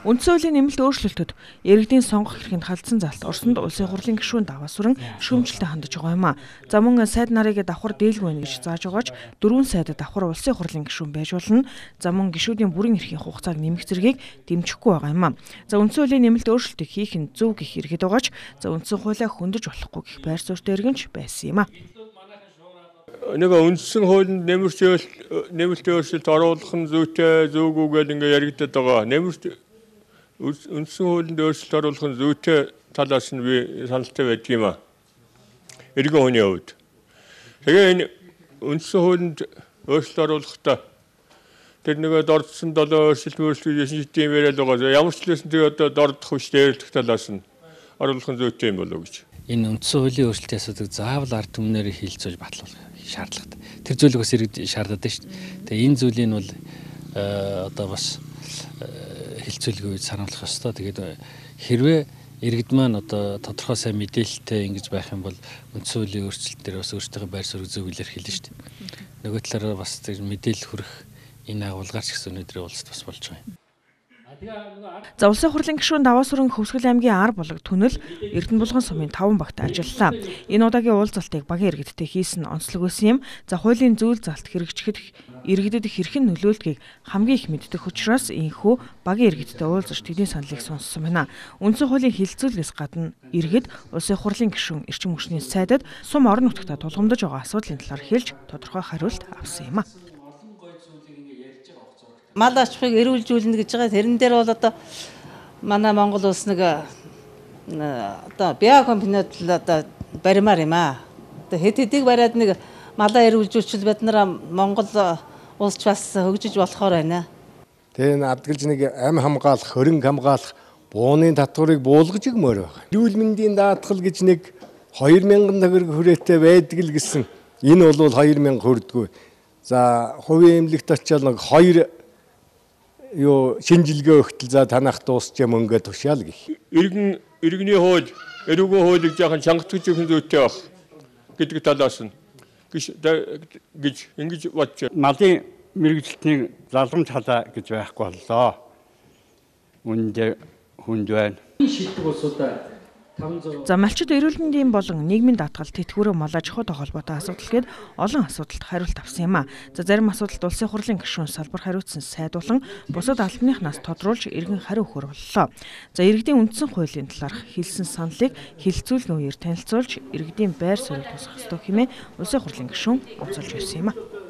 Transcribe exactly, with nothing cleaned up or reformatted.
Үндсэн хуулийн нэмэлт өөрчлөлтөд иргэдийн сонгох эрхэнд халдсан залт Оросд улсын хурлын гишүүн даваа сүрэн шүүмжлэлтэй хандаж байгаа юм а. За мөн сайд нарыг давхар дийлгүй байна гэж зааж байгаач дөрвөн сайд давхар улсын хурлын гишүүн байж болно. За мөн гишүүдийн бүрэн эрхийн хугацааг нэмэх зэргийг дэмжихгүй байгаа юм а. За үндсэн хуулийн нэмэлт өөрчлөлтийг хийх нь зөв гэх иргэд байгаач за үндсэн хуулиа хөндөж болохгүй гэх байр суурьтай иргэнч байсан юм а. Нэг үндсэн хуулинд нэмэлт нэмэлт өөрчлөлт оруулах нь зүйтэй зөвгүй гэдэг ингээ яригдаад байгаа. Нэмэлт үндсэн хуулинд өөрчлөлт оруулах нь зүйтэй талаас нь би саналтай байдаг юм а. Иргэн хүний хувьд. Тэгээ энэ үндсэн хуулинд өөрчлөлт оруулахдаа тэр нэг дордсон долоо өөрчлөлт өөрчлөлт шийдэм яриад байгаа. Ямар ч лсэн тэр одоо дордох биш дээрлэх талаас нь оруулах нь зүйтэй юм болов уу гэж. Энэ үндсэн хуулийн өөрчлөлтийн асуудыг заавал ард түмнээр хилцүүлж батлуулах шаардлагатай. Тэр зүйлийг бас иргэд шаардаад байна шүү дээ. Тэгээ энэ зүйлийг бол одоо бас хилцүүлгүй санаалах ёстой. Тэгээд хэрвээ иргэд маань одоо тодорхой сайн мэдээлэлтэй ингэж байх юм бол үндсэн хуулийн өөрчлөлт дээр бас өөрсдийнхөө байр суурийг зөвлөөр хэлнэ шүү дээ. Нөгөө талаараа бас мэдээлэл хүрэх энэ агуулгаарч гэсэн өнөөдрийн уулзалт бас болж байгаа юм. За улсын хурлын гишүүн даваа сүрэн Хөвсгөл аймгийн ар булаг түнэл Эрдэнэ булган сумын таван багт ажиллалаа. Энэ удаагийн уулзалтыг багийн иргэдтэй хийсэн онцлог байсан юм. За хуулийн зүйл залт хэрэгжихэд иргэдэд хэрхэн нөлөөлдгийг хамгийн их мэддэг учраас ийхүү багийн иргэдтэй уулзаж тэдний саналыг сонссон байна. Үндсэн хуулийн хилцүүлгээс гадна иргэд улсын хурлын гишүүн эрчим хүчний сайдад сум орон нутгад тулгамдж байгаа асуудлын талаар хэлж тодорхой хариулт авсан юм а. Мал аж ахуйг эрүүлжүүлнэ гэж байгаа. Тэрэн дээр бол одоо манай Монгол улс нэг одоо биокомпаниуд л одоо баримаар юм аа. Одоо хэд хэдийг бариад нэг малаа эрүүлжүүлчихвэл бид нар Монгол улс бас хөгжиж болохоор байна. Тэгээ энэ адгалж нэг ам хамгаалах, хөрөнгө хамгаалах, бууны татварыг буулгаж өгмөр байна. Эрүүл мэндийн даатгал гэж нэг хоёр мянган төгрөг хүрээтэй байдаг л гэсэн. Энэ бол хоёр мянга хүрдэггүй. За хувийн эмнэлэгт очиад нэг хоёр юу шинжилгээ өгтөл за танах дуусчаа мөнгө тушаал гэх. Иргэн иргэний хууль, эрүүгийн хуулийг жаахан чангатгаж өгөх зүйтэй баг гэдэг талаас нь гэж ингэж бодож байна. Малын мэрэгжилтний залгамж халаа гэж байхгүй боллоо. Үндэ хүнд байна. Шийддэг улсуудаа За малчид эрүүл мэндийн болон нийгмийн даатгал тэтгэврийн мал аж ахуйтай холбоотой асуудал гээд олон асуудалд хариулт авсан юм а. За зарим асуудалд улсын хурлын гишүүн салбар хариуцсан сайд болон бусад албаныхнаас тодруулж иргэн хариу өгөх боллоо. За иргэдийн үндсэн хуулийн талаарх хэлсэн саналыг хилцүүлгийн үеэр танилцуулж иргэдийн байр суурийг тусгах ёстой хэмээн улсын хурлын гишүүн онцолж ирсэн юм а.